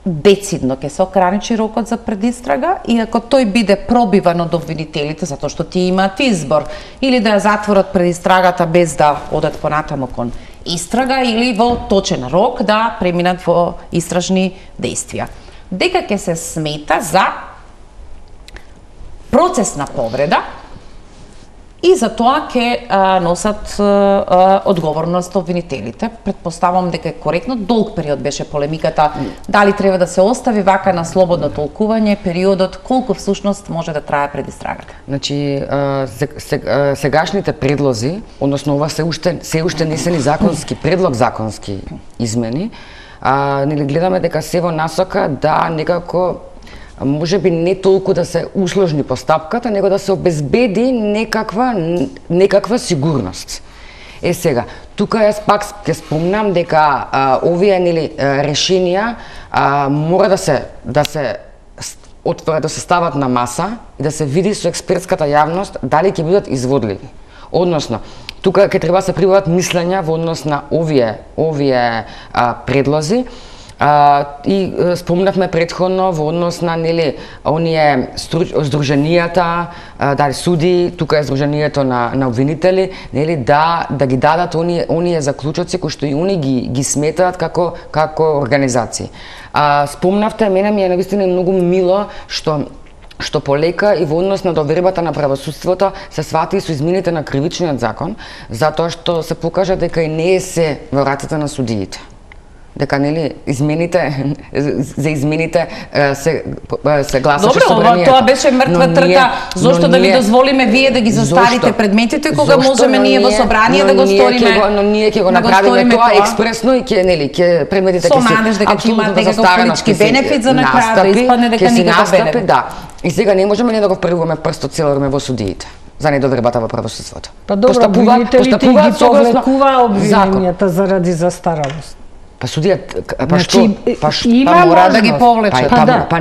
децидно ќе се ограничи рокот за предистрага и ако тој биде пробиван од обвинителите, затоа што ти имаат избор, или да ја затворат предистрагата без да одат понатаму кон истрага, или во точен рок да преминат во истражни действија. Дека ќе се смета за процесна повреда и за тоа ќе носат одговорност обвинителите. Предпоставам дека е коректно. Долг период беше полемиката дали треба да се остави вака на слободно толкување периодот, колку всушност може да трае предистрагата. Значи, сегашните предлози, односно ова се уште не се ни законски предлог, законски измени, нели гледаме дека се во насока да некако може би не толку да се усложни постапката, него да се обезбеди некаква сигурност. Сега, тука јас пак ќе спомнам дека овие нели решенија мора да се стават на маса и да се види со експертската јавност дали ќе бидат изводливи. Односно, тука ќе треба да се прибават мислења во однос на овие предлози. И спомнавме претходно во однос на нели оние здруженијата, дали суди, тука е здруженијето на обвинители, нели да ги дадат оние заклучоци кои што и они ги сметаат како организации. Спомнавте, мене ми е навистина многу мило што полека и во однос на довербата на правосудството се свати со измените на кривичниот закон, затоа што се покажа дека и не е се во рацете на судиите. Дека нели за измените се гласаше собранието. Добро, тоа беше мртва трка. Зошто да ви дозволиме вие да ги заставите предметите кога можеме ние во собрание да го сториме? Но ние ќе го направиме тоа експресно и ќе предметите ќе се надеж дека ќе имаат некаков политички бенефит за на крај да испадне дека никаков бенефит. Да. И сега не можеме да го впревуваме прстот цело време во судиите за недовербата во правосудството. Па добро, обвинителите ги повлекува обвиненијата заради застаралост. Па судијата, мора да ги повлечат.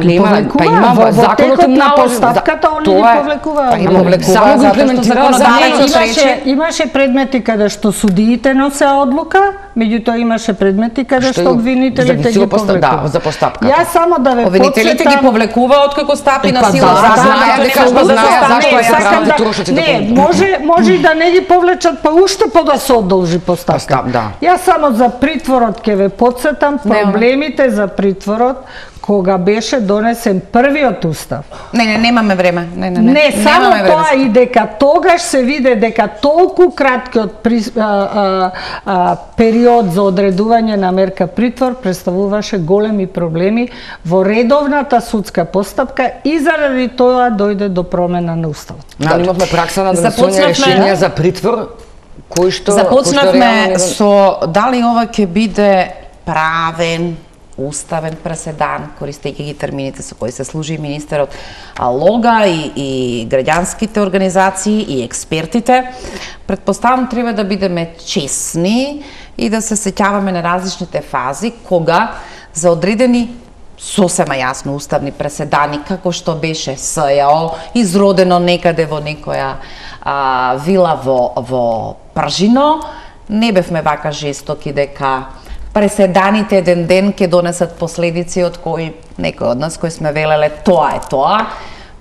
Има во законот на постапката, они ги повлекуваат. Само го имплементираат. Имаше предмети каде што судиите носе одлука, меѓутоа имаше предмети каде што обвинителите ги повлекуваат. За постапката. Јас само да ве обвинителите ги повлекуваат откако стапи на сила. Знаеат зашто ја прават трошоците. Не, може и да не ги повлечат, па уште да се одолжи постапка. Јас само за притворот ќе ве подсетам проблемите за притворот кога беше донесен првиот устав. Немаме време. Не, само тоа и дека тогаш се виде дека толку краткиот период за одредување на мерка притвор представуваше големи проблеми во редовната судска постапка и заради тоа дојде до промена на уставот. Имавме пракса на донесување решенија за притвор кој што започнавме со дали ова ќе биде правен уставен преседан, користејќи ги термините со кои се служи министерот, Лога и граѓанските организации и експертите. Предпоставам треба да бидеме чесни и да се сеќаваме на различните фази кога за одредени сосема јасно уставни преседани, како што беше СЈО, изродено некаде во некоја вила во Пржино, не бевме вака жестоки дека преседаните еден ден ќе донесат последици од кои некој од нас кои сме велеле тоа е тоа,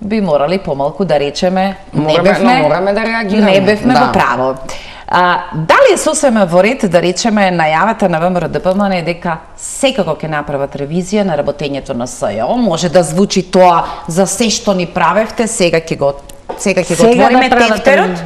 би морали помалку да речеме мораме да реагираме. Не бевме во право. Дали е сосема во ред да речеме најавата на ВМРО-ДПМН е дека секако ќе направат ревизија на работењето на СЈО? Може да звучи тоа за се што ни правевте, сега ќе го отвориме тефтерот?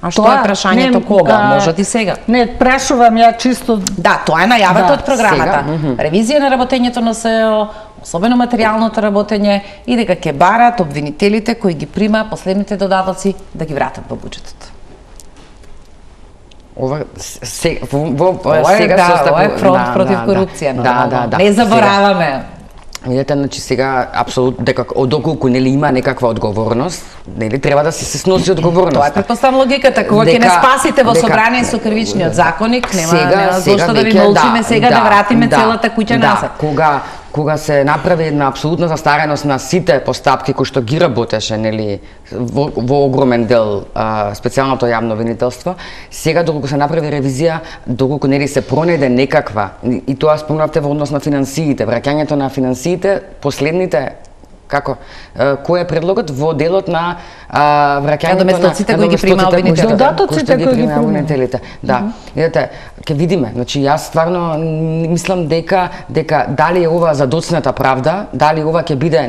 А што е прашањето кога? Можат и сега. Не, прашувам ја чисто... Да, тоа е најавата од програмата. Ревизија на работењето на СЈО, особено материјалното работење, и дека ќе барат обвинителите кои ги прима последните додатоци да ги вратат во буџетот. Ова сега е фронт против корупција. Да. Не забораваме. Видете, значи сега апсолутно дека доколку нели има некаква одговорност, нели треба да се сноси одговорност. Тоа е претпоставам логиката, кога ќе не спасите во собрание со кривичниот законник, нема зошто да ви молчиме сега да вратиме целата куќа назад. Кога се направи една апсолутна застареност на сите постапки кои што ги работеше, нели, во огромен дел специјалното јавно обвинителство, сега доколку се направи ревизија, доколку нели се пронајде некаква, и тоа спомнавте во однос на финансиите, враќањето на финансиите, последните кој е предлогот во делот на враќањето на доместocите кои ги прима обвинителите. Додатоците кои ги прима обвинителите. Да. Видете, ќе видиме. Значи јас стварно мислам дека дали е ова задоцната правда, дали ова ќе биде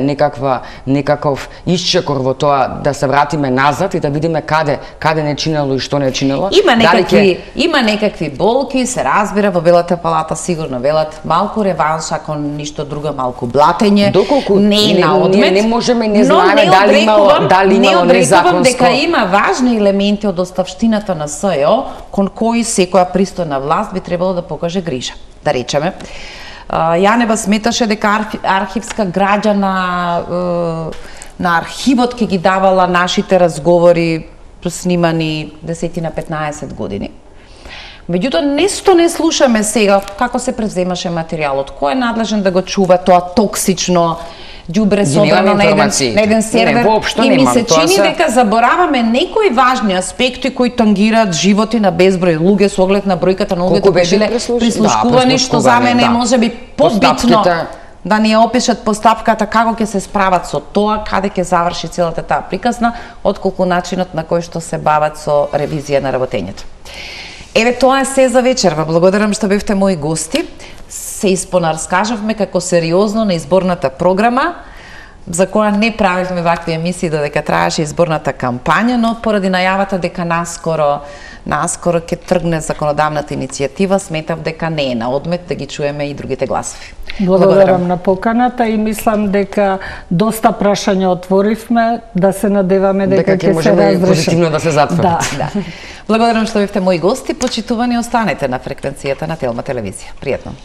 некаков исчекор во тоа да се вратиме назад и да видиме каде не чинело и што не чинело. Има некакви болки, се разбира, во Белата палата сигурно велат малку реванш, ако ништо друго, малку блатење. Доколку не на одмет, не можеме не знаеме дали имало незаконство. Дека има важни елементи од оставштината на СЈО кон кои секоја пристојна власт би требало да покаже грижа. Да речеме, Јанева сметаше дека архивска граѓа на архивот ќе ги давала нашите разговори снимани 10 на 15 години. Меѓутоа, нешто не слушаме сега како се превземаше материјалот, кој е надлежен да го чува тоа токсично ѓубре собрано на еден сервер. И ми се чини дека забораваме некои важни аспекти кои тангираат животи на безброј луѓе со оглед на бројката на луѓето кои биле прислушкувани, што за мене е можеби побитно да ни опишат постапката како ќе се справат со тоа, каде ќе заврши целата таа приказна, отколку начинот на кој што се бават со ревизија на работењето. Еве, тоа е се за вечерва. Благодарам што бевте мои гости. Се испонарскажавме како сериозно на изборната програма, за која не правивме вакви емисии додека траеше изборната кампања, но поради најавата дека наскоро ќе тргне законодавната иницијатива, сметав дека не е на одмет да ги чуеме и другите гласови. Благодарам на поканата и мислам дека доста прашања отворивме, да се надеваме дека ќе се разрешат. Позитивно да се затворат. Да. Благодарам што бевте мои гости, почитувани, останете на фреквенцијата на Телма телевизија. Пријатно.